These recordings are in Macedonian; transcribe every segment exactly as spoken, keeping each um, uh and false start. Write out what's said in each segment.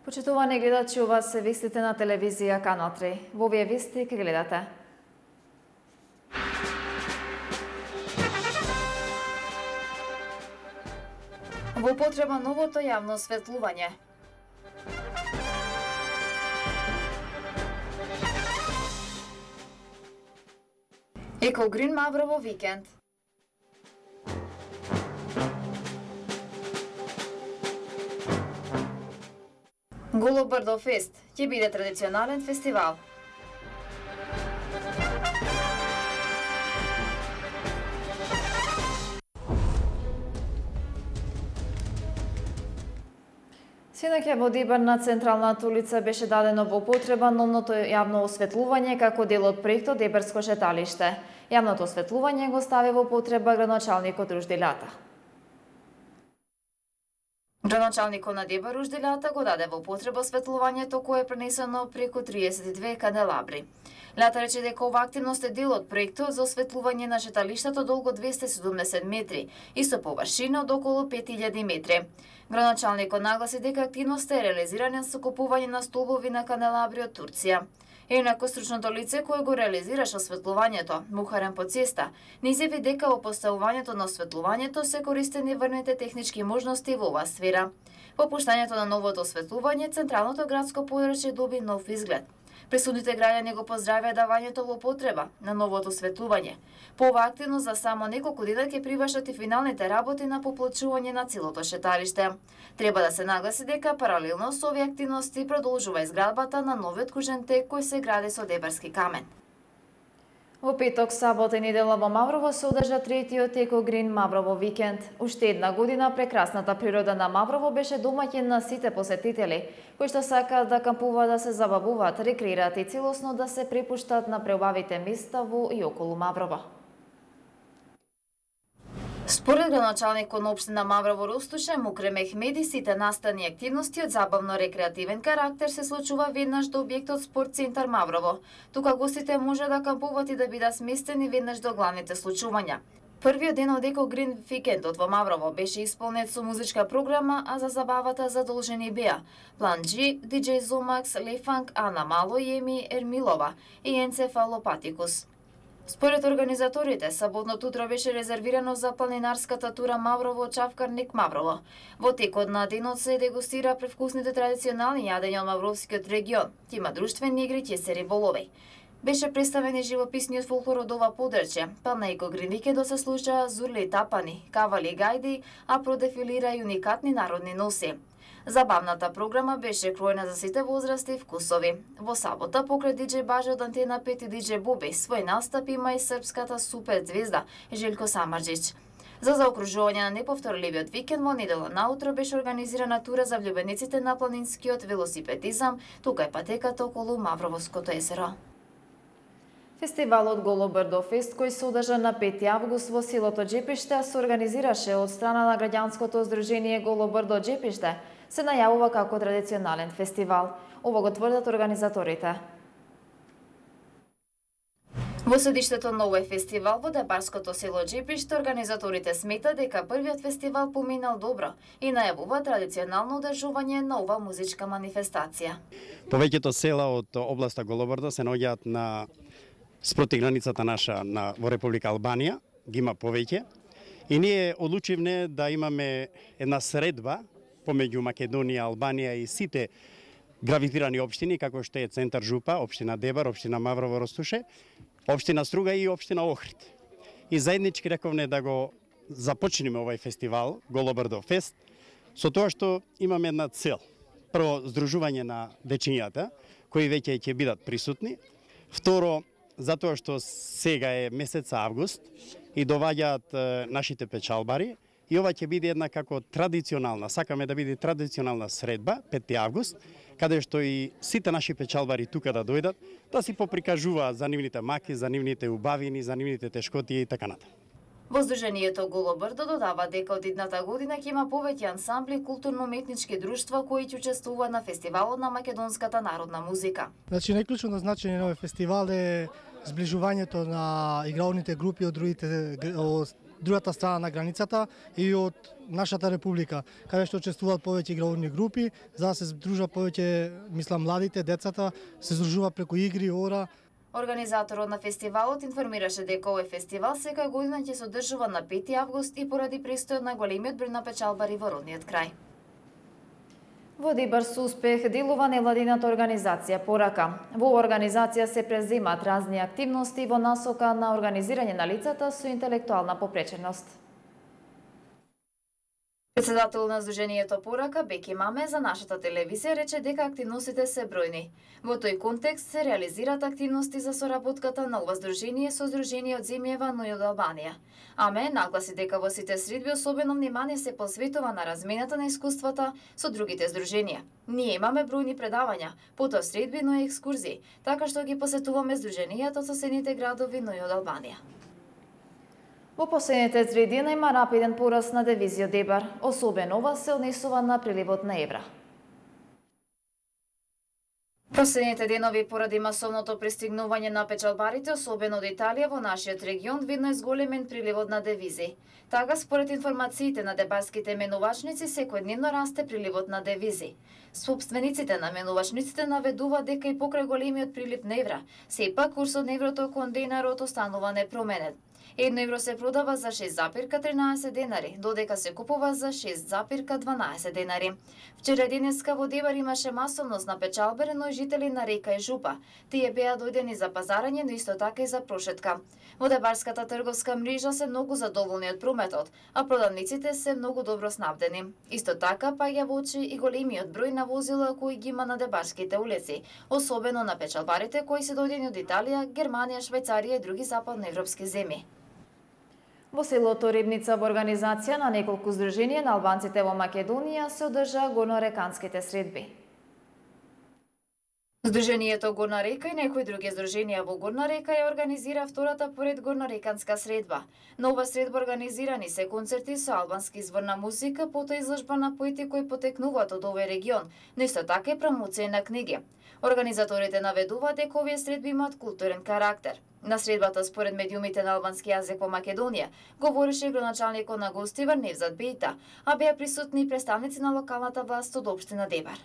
Почитувани гледачи, ова се вестите на телевизија Канал три. Во овие вести ке гледате. Во употреба новото јавно осветлување. Екогрин Маврово викенд. Голобрдо фест ќе биде традиционален фестивал. Синоќа во Дибар на централната улица беше дадено во употреба новото јавно осветлување како дел од проектот Дебарско шеталиште. Јавното осветлување го стави во употреба градоначалникот Ружделјата. Градоначалникот на Дебар Ружделјата го даде во употреба осветлувањето кое е пренесено преку триесет и две канделабри. Лјата рече дека ова активност е дел од проектот за осветлување на шеталиштето долго двесте и седумдесет метри и со површина од околу пет илјади метри. Градоначалникот нагласи дека активноста е реализирана со купување на столбови на канделабри од Турција. Инаку стручното лице кое го реализираше осветлувањето, Мухарен по цеста, не изјави дека во поставувањето на осветлувањето се користени врните технички можности во оваа сфера. По пуштањето на новото осветлување, централното градско подрачје доби нов изглед. Присутните граѓани го поздравија давањето во употреба на новото осветлување. По оваа активност за само неколку дена ќе привршат и финалните работи на поплачување на целото шеталиште. Треба да се нагласи дека паралелно со овие активности продолжува изградбата на новиот кружен тек кој се гради со дебарски камен. Во петок, сабота и недела во Маврово се одржа третиот Екогрин Маврово викенд. Уште една година прекрасната природа на Маврово беше домаќин на сите посетители, кои што сакаат да кампуваат, да се забавуваат, рекреираат и целосно да се препуштат на преубавите места во и околу Маврово. Според градоначалникот на општина Маврово Ростуше, Мукрем Мехмеди, сите настани активности од забавно-рекреативен карактер се случува веднаш до објектот Спорт центар Маврово. Тука гостите може да кампуваат и да бидат сместени веднаш до главните случувања. Првиот ден од Екогрин викендот во Маврово беше исполнет со музичка програма, а за забавата задолжени беа План G, диџеј Зомакс, Лефанг, Ана Мало, Еми Ермилова и Енцефалопатикус. Според организаторите, саботното утро беше резервирано за планинарската тура Маврово-Чавкарник Маврово. Во текот на денот се дегустира превкусните традиционални јадења од Мавровскиот регион, ќе има друштвени игри, ќе се риболови. Беше представен и живописниот фолклор од ова подрачје, па на Екогрин викендот се слуша зурли и тапани, кавали и гајди, а продефилира и уникатни народни носи. Забавната програма беше кроена за сите возрасти и вкусови. Во сабота, покрај диџеј Баже од Антена пет и диџеј Боби, свој настап има и српската супер звезда Желко Самарџич. За заокружување на неповторливиот викенд во недела наутро беше организирана тура за влюбениците на планинскиот велосипедизам, тука е патеката околу Мавровското езеро. Фестивалот Голобрдо фест, кој се одржа на пети август во селото Џепиште, се организираше од страна на граѓанското здружение Голобрдо Џепиште, се најавува како традиционален фестивал. Ово го тврдат организаторите. Во седиштето на овој фестивал во Дебарското село Џепиште, организаторите сметат дека првиот фестивал поминал добро и најавува традиционално одржување на ова музичка манифестација. Повеќето села од областа Голобрдо се наоѓаат на спроти границата наша на во Република Албанија, ги има повеќе, и ние одлучивме да имаме една средба помеѓу Македонија, Албанија и сите гравитирани општини, како што е Центар Жупа, општина Дебар, општина Маврово Ростуше, општина Струга и општина Охрид. И заеднички рековне да го започнеме овој фестивал, Голобрдо фест, со тоа што имаме една цел. Прво, здружување на дечињата, кои веќе ќе бидат присутни. Второ, затоа што сега е месец август и доваѓаат нашите печалбари, и ова ќе биде една како традиционална, сакаме да биде традиционална средба, пети август, каде што и сите наши печалбари тука да дојдат, да си поприкажуваат за нивните маки, за нивните убавини, за нивните тешкоти и така натаму. Во Сдруженијето Голобрдо додава дека од идната година ќе има повеќе ансамбли културно-уметнички друштва кои ќе учествуваат на фестивалот на македонската народна музика. Значи, најклучно значење на овој фестивал е зближувањето на игралните групи од другите од другата страна на границата и од нашата република, каде што учествуваат повеќе игрални групи, за да се здружат повеќе, мислам, младите, децата, се здружуваат преку игри, ора. Организаторот на фестивалот информираше дека овој фестивал секоја година ќе се одржува на пети август и поради престојот на големиот број на печалбари во родниот крај. Во Дибар со успех делува невладината организација Порака. Во оваа организација се преземаат разни активности во насока на организирање на лицата со интелектуална попреченост. Председател на Сдруженијето Порака Беки Маме за нашата телевизија рече дека активностите се бројни. Во тој контекст се реализираат активности за соработката на ова здружение со Здружение од земјава, но и од Албанија. Аме нагласи дека во сите средби особено внимание се посветува на размената на искуствата со другите здруженија. Ние имаме бројни предавања, потоа средби, но и екскурзии, така што ги посетуваме здруженијата од соседните градови, но и од Албанија. Во последните три дена има рапиден пораст на девизи од Дебар, особено ова се однесува на приливот на евра. Последните денови поради масовното пристигнување на печалбарите, особено од Италија во нашиот регион, видно е зголемен приливот на девизи. Така, според информациите на дебарските менувачници, секојдневно расте приливот на девизи. Собствениците на менувачниците наведуваат дека и покрај големиот прилив на евра, сепак курсот на еврото кон денарот останува непроменет. Едно евро се продава за шест запирка тринаесет денари, додека се купува за шест запирка дванаесет денари. Вчера денеска во Дебар имаше масовност на печалбари, но и жители на Река и Жупа. Тие беа дојдени за пазарање, но исто така и за прошетка. Во Дебарската трговска мрежа се многу задоволни од прометот, а продавниците се многу добро снабдени. Исто така паѓа во очи и големиот број на возила кои ги има на дебарските улици, особено на печалбарите кои се дојдени од Италија, Германија, Швајцарија и други западноевропски земји. Во селото Рибница во организација на неколку здруженија на албанците во Македонија се одржаа горнореканските средби. Сдруженијето Горна река и некои други здруженија во Горна река ја организира втората поред горнореканска средба. На ова средба организирани се концерти со албански изворна музика, потоа изложба на поети кои потекнуваат од овој регион, но исто така и промоција на книги. Организаторите наведуваат дека овие средби имаат културен карактер. На средбата, според медиумите на албански јазик во Македонија, говореше градоначалникот на Гостивар Невзат Бејта, а беа присутни и представници на локалната власт од општина Дебар.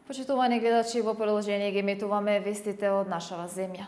Почитувани гледачи, во продолжение ги емитуваме вестите од нашава земја.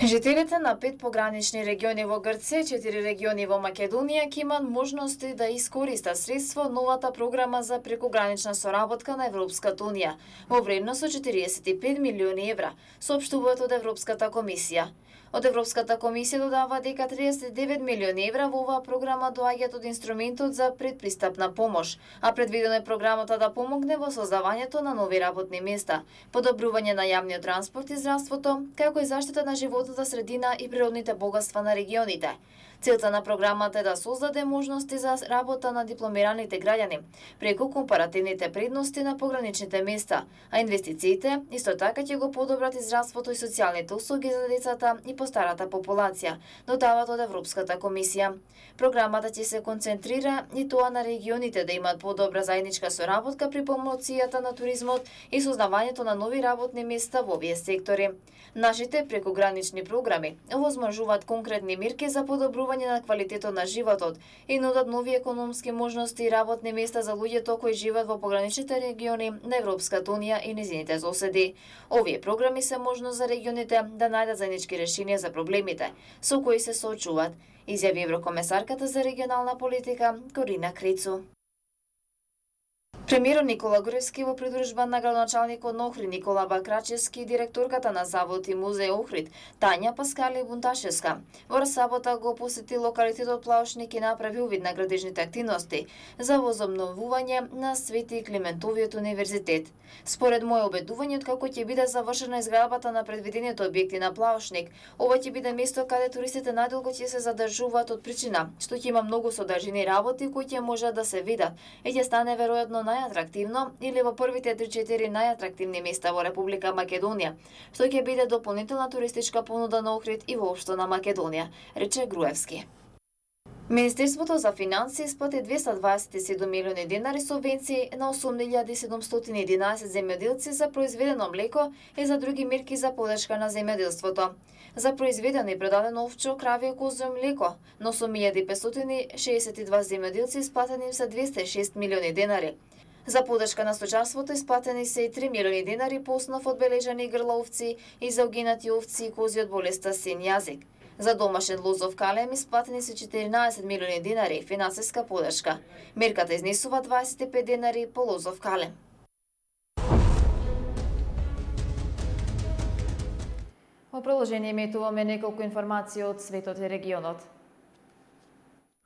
Жителите на пет погранични региони во Грција и четири региони во Македонија ќе имаат можности да искористат средства од новата програма за прекогранична соработка на Европската унија во вредност од четириесет и пет милиони евра, соопштуваат од Европската комисија. Од Европската комисија додава дека триесет и девет милиони евра во оваа програма доаѓаат од инструментот за предпристапна помош, а предвидено е програмата да помогне во создавањето на нови работни места, подобрување на јавниот транспорт и здравството, како и заштита на животната средина и природните богатства на регионите. Целта на програмата е да создаде можности за работа на дипломираните граѓани преку компаративните предности на пограничните места, а инвестициите исто така ќе го подобрат и здравството и социјалните услуги за децата и постарата популација, додават од Европската комисија. Програмата ќе се концентрира и тоа на регионите да имаат подобра заедничка соработка при промоцијата на туризмот и создавањето на нови работни места во овие сектори. Нашите прекогранични програми овозможуваат конкретни мерки за подобрување на квалитетот на животот и нудат нови економски можности и работни места за луѓето кои живеат во пограничните региони на Европската унија и низините соседи. Овие програми се можност за регионите да најдат заеднички решенија за проблемите со кои се соочуваат, изјави еврокомесарката за регионална политика Корина Крицу. Премиерот Никола Груевски во придружба на градоначалникот на Охрид Никола Бакрачевски и директорката на Завод и музеј Охрид Тања Паскали Бунташевска во сабота го посети локалитетот Плаушник и направи увид на градежните активности за возобновување на Свети Климентовиот универзитет. Според моје обедување, откако ќе биде завршена изградбата на предвидените објекти на Плаушник, ова ќе биде место каде туристите најдолго ќе се задржуваат од причина што ќе има многу содржини работи кои ќе можат да се видат и ќе стане веројатно најатрактивно или во првите три-четири најатрактивни места во Република Македонија, што ќе биде дополнителна туристичка понуда на Охрид и воопшто на Македонија, рече Груевски. Министерството за финансии исплати двеста дваесет и седум милиони денари субвенции на осум илјади седумстотини и единаесет земјоделци за произведено млеко и за други мерки за подршка на земјоделството. За произведено и предадено овчо, крави, козјо млеко на осум илјади петстотини шеесет и два земјоделци исплатени им се двеста и шест милиони денари. За подршка на сточарството исплатени се и три милиони денари по основ одбележани грла овци и за угинати овци и кози од болеста син јазик. За домашен лозов калем исплатени се четиринаесет милиони денари финансиска подршка. Мерката изнесува дваесет и пет денари по лозов калем. Во продолжение иметуваме неколку информации од светот и регионот.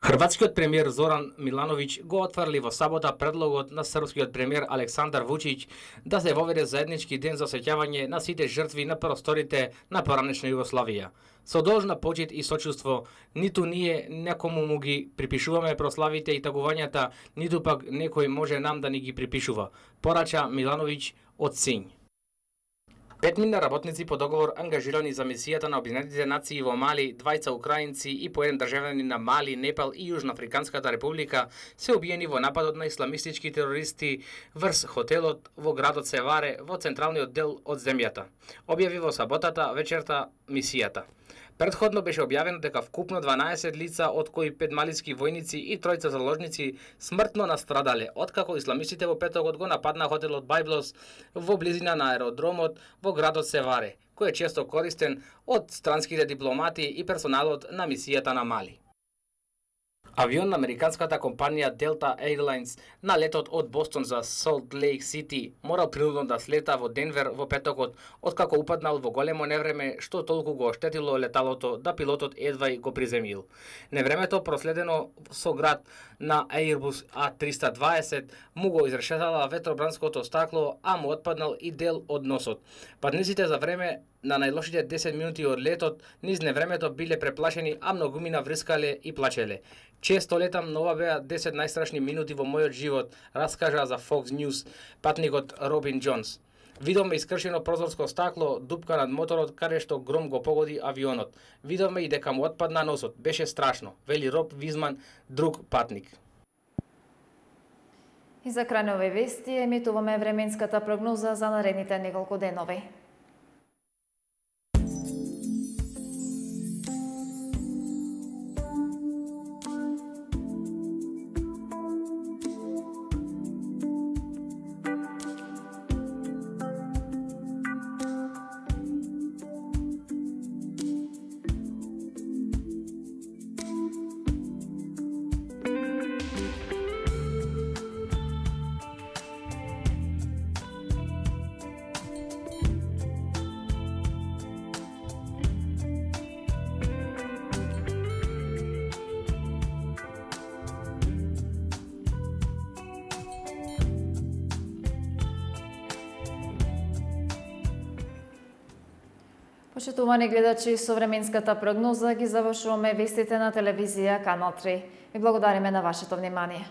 Хрватскиот премиер Зоран Милановиќ го отврли во сабота предлогот на српскиот премиер Александар Вучиќ да се воведе заеднички ден за сеќавање на сите жртви на просторите на поранешна Југославија. Со должна почит и сочувство, ниту ние некому му ги припишуваме прославите и тагувањата, ниту пак некој може нам да ни ги припишува, порача Милановиќ од Синј. Петмина работници по договор ангажирани за мисијата на Обединетите нации во Мали, двајца украинци и по еден државјанин на Мали, Непал и Јужноафриканската република се убиени во нападот на исламистички терористи врз хотелот во градот Севаре во централниот дел од земјата, објави во саботата вечерта мисијата. Предходно беше објавено дека вкупно дванаесет лица, од кои пет малиски војници и тројца заложници, смртно настрадале, откако исламистите во петокот го нападна хотелот Бајблос во близина на аеродромот во градот Севаре, кој е често користен од странските дипломати и персоналот на мисијата на Мали. Авион на американската компанија Delta Airlines на летот од Бостон за Солт Лейк Сити морал принудно да слета во Денвер во петокот, откако упаднал во големо невреме што толку го оштетило леталото да пилотот едва и го приземил. Невремето проследено со град на Airbus А триста дваесет му го изрешетала ветробранското стакло, а му отпаднал и дел од носот. Патниците за време на најлошите десет минути од летот низ невремето биле преплашени, а многумина врскале и плачеле. Често летам, но ова беа десет најстрашни минути во мојот живот, раскажа за Fox News патникот Робин Џонс. Видовме искршено прозорско стакло, дупка над моторот, каде што гром го погоди авионот. Видовме и дека му отпадна носот. Беше страшно, вели Роб Визман, друг патник. И за крај на овие вести емитуваме временската прогноза за наредните неколку денови. Почитувани гледачи, со временската прогноза ги завршуваме вестите на телевизија Канал три. Ви благодариме на вашето внимание.